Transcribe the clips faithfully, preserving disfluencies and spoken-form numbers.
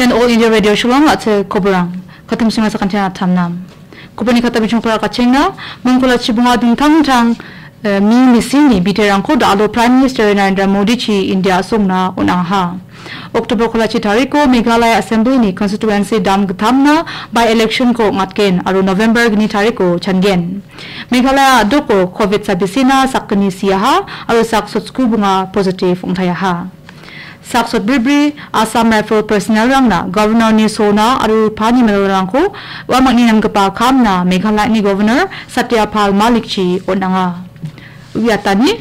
Ian All India Radio Shillong, a·chik koborang. Katim sima sakantian atamnam. Koborni kata bijong para kachenga, mongkolachi bonga dingtang dingtang, eh, mi misini biterangko da·alo Prime Minister Narendra Modi-chi India a·songna on·aha. October kolachi tariko Meghalaya Assembly-ni constituency dam gittamna by-election-ko ong·atgen aro November gni tariko changen. Meghalaya a·doko covid sabisina sakgni siaha aro sak sotsku bonga positive ong·taiaha. Sak sotbribri Assam Rifle personnel-rangna Governor-ni sona aro rupani medalrangko uamangni namgipa kamna Meghalaya-ni Governor Satya Pal Malik-chi on·anga. Uiatani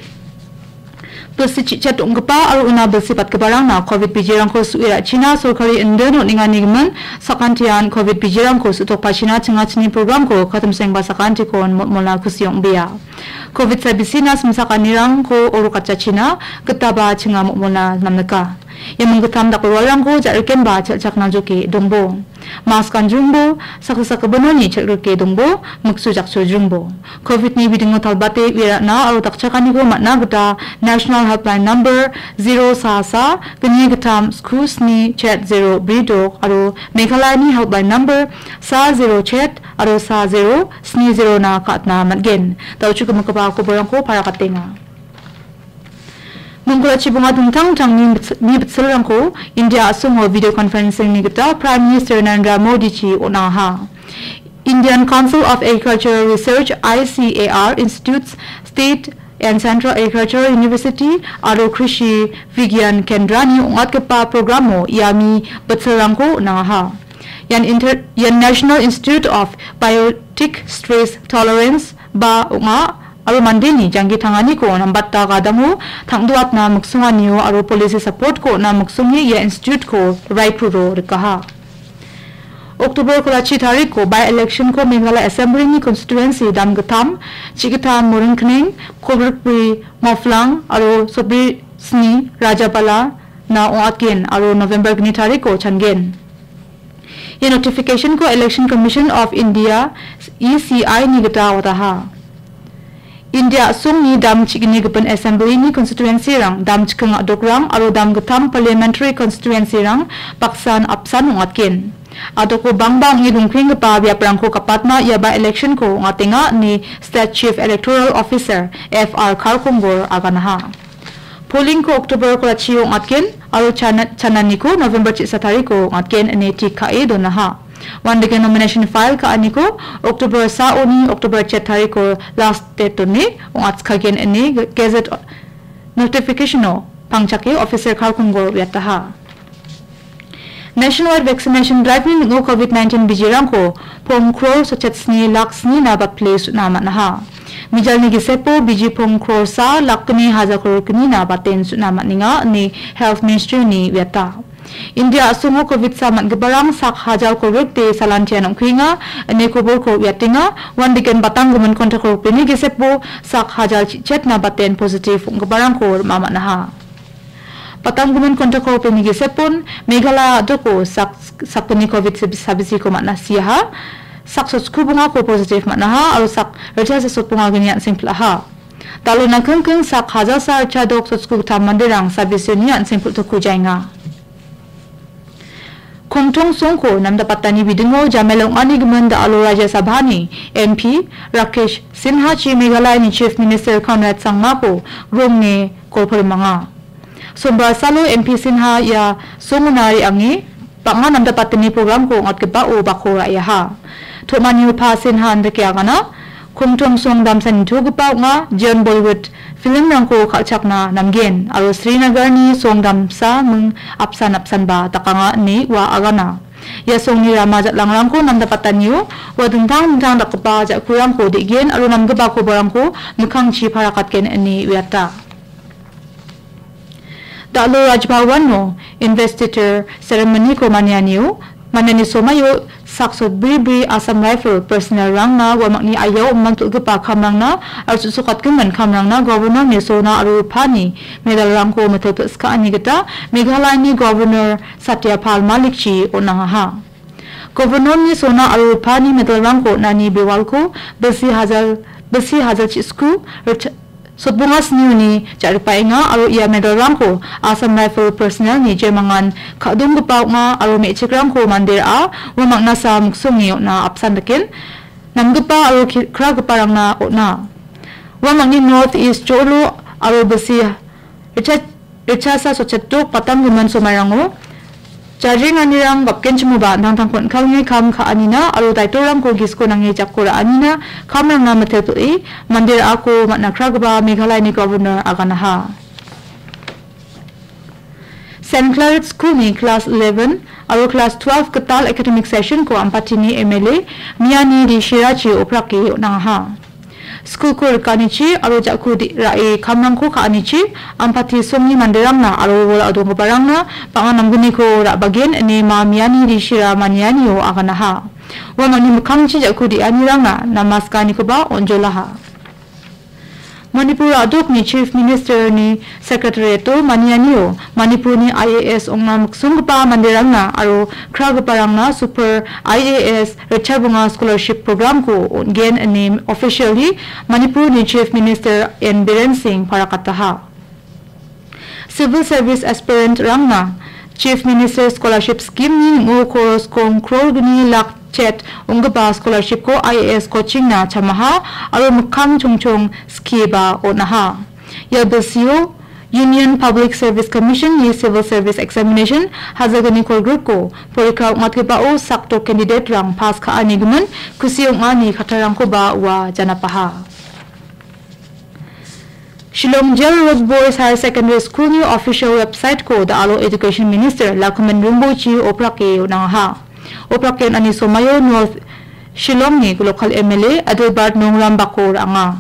bilsi chichet ong·gipa aro una bilsi patgiparangna covid bijirangko su·e ra·china sorkari indin on·enganigimin sakantian covid bijirangko su·tokpachina chingachini programko katimsengba sakantikon motmona kusi ong·bea. Covid sabisina simsakanirangko orokatjachina gitaba chinga motmona namnika. Ia minggittam dakroalrangko ja·rikenba chelchakna joke dongbo. Mask ganjrumbo, saksa sakgipinoni chel·grike dongbo, miksu jakchojrumbo. Covid-ni bidingo talbate uiarana aro dakchakaniko man·a gita National Helpline Number zero sa sa gni gittam sku sni chet zero bri dok aro Meghalayani Helpline Number sa zero chet aro sa zero sni zero-na ka·atna man·gen. Da·ochi gimigipa koborangko parakatenga. Mongkolachi bonga dingtang dingtang mi bits-, mi bitsilrangko India a·songo video conferencing-ni gita Prime Minister Narendra Modi-chi on·aha. Indian Council of Agricultural Research, I C A R, Institutes, State and Central Agricultural University aro Krishi Vigyan Kendra-ni ong·atgipa programo ia mi bitsilrangko on·aha. Ian inter-, ian National Institute of Biotic Stress Tolerance ba ong·a aro mandeni janggi tanganiko nambata gadango tang·doatna miksonganio aro policy support-ko on·a miksonge ia institute-ko Raipuro rikaha. October kolachi tariko by-election-ko Meghalaya Assembly-ni constituency dam gittam, chigittam Moringkneng, kolgrikbri Moflang aro sotbri sni Rajabala-na ong·atgen aro November gni tariko changen. Ia notification-ko Election Commission of India, E C I-ni gita wataha. India a·songni dam chigni gipin assembly-ni constituency-rang, dam chiking a·dokrang aro dam gittam parliamentary constituency-rang baksan apsan ong·atgen. A·doko bangba ong·e dongpenggipa biaprangko gapatna ia by-election-ko ong·atenga ine State Chief Electoral Officer F R Kharkongor aganaha. Polling-ko October kolachio ong·atgen aro chana-, chananiko November chisa tariko ong·atgen ine tik ka·e donaha. Uandake nomination file ka·aniko October saoni October chet tariko last date done ong·atskagen ine ge-, gazette notification-o pangchake Officer Kharkongor uiataha. Nationwide vaccination drive-ni ning·o covid nineteen bijirangko pong kror sotchet sni lak snina batpile su·na man·aha. Mijalni gisepo biji pong kror sa lak gni hajar kror gnina baten su·na man·enga ine Health Ministry-ni uiata. India a·songo covid sa man·giparang sak hajar kror rikde salantian ong·kuenga ine koborko uiatenga, uandake batanggimin kontak rokbeni gisepo sak hajar chichetna baten positive ong·giparangko rima man·aha. Batanggimin kontak rokbeni gisepon Meghalaya a·doko sak, sakgni covid sabisiko man·a siaha, sak sotsku bongako positive man·aha aro sak ritchasa sotbonga gni an·seng pil·aha. Dalona kingking sak hajalsa ritchadok sotsku gittam manderang sabisini an·seng pil·tokku jaenga. Kongtong songko namdapatani bidingo jamel ong·ani gimin da·alo Rajya Sabhani M P Rakesh Sinha-chi Meghalayani Chief Minister Conrad Sangmako gronge golporimanga. Sombar salo M P Sinha ia songona re·ange bang·a namdapatani programko ong·atgipao bako ra·eaha. Tom·anio Pa Sinha indake agana, Kongtong song damsa nitogipa ong·a, jeon Bollywood film-rangko kal·chakna namgen aro Srinagarni song damsa ming apsan apsanba dakanga ine ua agana. Ia songni rama jal·angrangko namdapatanio ua dingtang dingtang dakgipa ja·kurangko de·gen aro namgipa kobarangko mikkangchi parakatgen ine uiata. Da·alo Raj Bhavan-o investiture ceremony-ko manianio, maniani somaio sak sotbribri Assam Rifle personnel-rangna uamangni aiao oman pil·gipa kamrangna aro chu·sokatgimin kamrangna Governor-ni sona aro rupani medal-rangko mitel pil·skaani gita Meghalayani Governor Satya Pal Malik-chi on·angaha. Governor-ni sona aro rupani medal-rangko on·ani bewalko bilsi hajar, bilsi hajar chi·sku rit-, Sotbonga snioni ja·ripaenga aro ia medalrangko Assam Rifle personnelni jemangan ka·donggipa ong·a aro me·chikrangko mande ra·a ua mangna sa miksonge on·a apsan daken namgipa aro ki-, kragiparangna on·a. Ua mangni North East jolo aro bisi richa-, richasa sochetok patanggimin somairango jarenganirang gapgenchimoba an·tangtangko an·kalni kam ka·anina aro daitorangko gisiko nange jako ra·anina kamrangna mitelpil·e mande ra·ako man·a kragipa Meghalayani governor aganaha. Saint Claret School-ni class eleven aro class twelve gital academic session-ko Ampatini M L A Miani D Shirachi oprake on·angaha. School-ko rikanichi aro jako di-, ra·e kamrangko ka·anichi Ampati songni manderangna aro wol adonggiparangna bang·a namgniko ra·bagen ine Ma Miani D Shira manianio aganaha. Uamangni mikkangchi jako di·anirangna namaskanikoba on·jolaha. Manipur a·dokni Chief Minister-ni Secretariat-o manianio Manipurni I A S ong·na miksonggipa manderangna aro kragiparangna Super I A S Richabunga Scholarship Program-ko on·gen ine officially Manipurni Chief Minister N Biren Singh parakataha. Civil Service Aspirant-rangna Chief Minister Scholarship Scheme-ni ning·o koros kong kror gni lak chet ong·gipa scholarship-ko I A S coaching-na chamaha aro mikkang chongchong skieba on·aha. Ia bilsio Union Public Service Commission-ni Civil Service Examination hajalgni kolgrikko porikka ong·atgipao sakdok candidate-rang pass ka·anigimin kusi ong·ani kattarangkoba ua janapaha. Shillong Jail Road Boys Higher Secondary School-ni official website-ko da·alo Education Minister Lakhuman Rimboichi oprake on·angaha. Oprake on·ani somaio North Shillong-ni local M L A Adelbert Nongrambako ra·anga.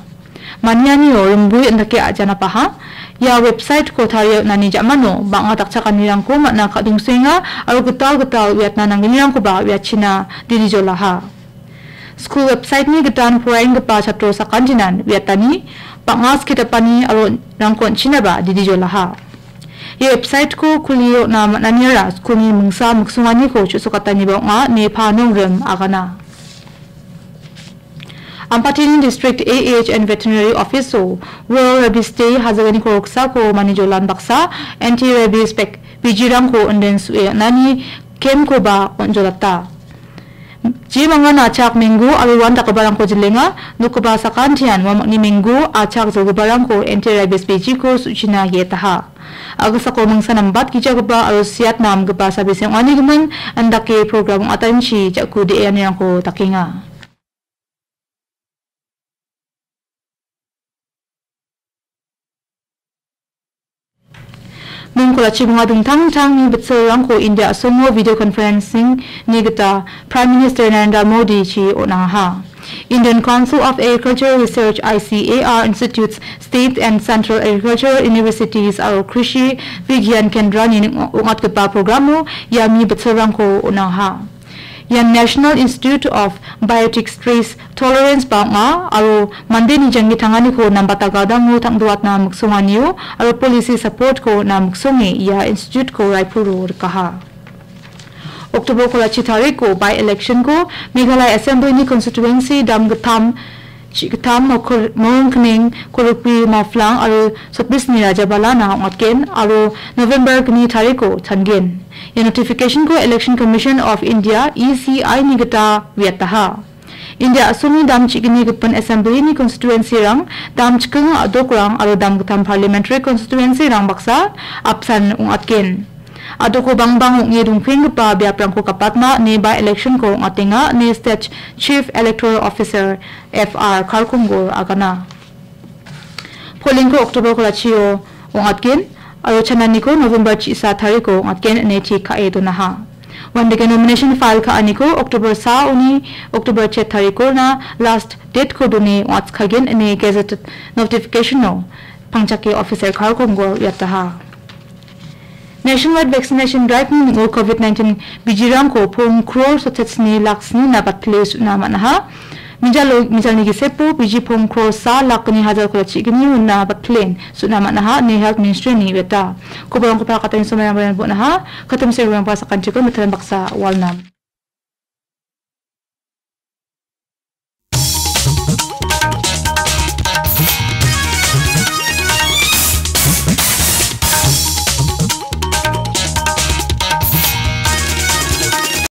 Manianio rimbui indake a·janapaha. Ia website-ko tarie on·ani ja·mano bang·a dakchakanirangko man·a ka·dongsoenga aro gital gital uiatna nanggnirangkoba uiatchina didijolaha. Skul website-ni gitan poraenggipa chatro sakantinan uiatani bang·a sketapani aro rangko on·chinaba didijolaha. Ia website-ko kulie on·a man·aniara skulni mingsa miksonganiko chu·sokataniba ong·a ine Panongrim agana. Ampatini District A H and Veterinary Office-o World Rabies Day hajalgni koroksako manijolan baksa anti-rabies bek-, bijirangko inden su·e on·ani camp-koba on·jolata. Jemangan achak menggu aro uan dakgiparangko jilenga, nokgipa sakantian uamangni menggu achak jolgiparangko anti-rabies bijiko su·china ge·etaha. A·gisako mingsa nambatgijagipa aro siatna amgipa sabise ong·anigimin, indake program ong·atanchi ja·ku de·anirangko dakenga. Mingkolachibonga dingtang dingtangni bitsilrangko India a·songo video conferencing-ni gita Prime Minister Narendra Modi-chi on·angaha. Indian Council of Agricultural Research, I C A R, Institutes, State and Central Agricultural Universities aro Krishi Vigyan Kendra-ni ning-, ong·atgipa programo ia mi bitsilrangko on·angaha. Ian National Institute of Biotic Stress Tolerance ba ong·a aro mandeni janggi tanganiko nambata gadango tang·doatna miksonganio aro policy support-ko on·a miksonge ia institute-ko Raipuro rikaha. October kolachi tariko by-election-ko Meghalaya Assembly-ni constituency dam gittam, chi gittam, mokor-, morongkning, korokbi, maflang aro sotbisni Rajabalana ong·atgen aro November gni tariko changen. Ia notification-ko Election Commission of India, E C I-ni gita uiataha. India a·songni dam chi·gni gipin Assembly-ni constituency-rang, dam chiking a·dokrang aro dam gittam parliamentary constituency-rang baksa apsan ong·atgen. A·doko bangbang ong·e dongpenggipa biaprangko gapatna ine by-election-ko ong·atenga ine State Chief Electoral Officer, F R Kharkongor agana. Polling-ko October kolachio ong·atgen aro chananiko November chi-, sa tariko ong·atgen ine tik ka·e donaha. Uandake nomination file ka·aniko October sa ong·e October chet tarikorna last date-ko done ong·atskagen ine gazette notification-o pangchake Officer Kharkongor uiataha. Nationwide vaccination drive-ni ning·o covid nineteen bijirangko pong kror sotetsni lak snina batpile su·na man·aha. Mijalo-, mijalni gisepo biji pong kror sa lak gni hajar kolachi gni wina batpilen su·na man·aha ine Health Ministry-ni uiata. Kobarangko parakatani somairang bon·aha. Katim serang ba sakantiko mitaran baksa walnam.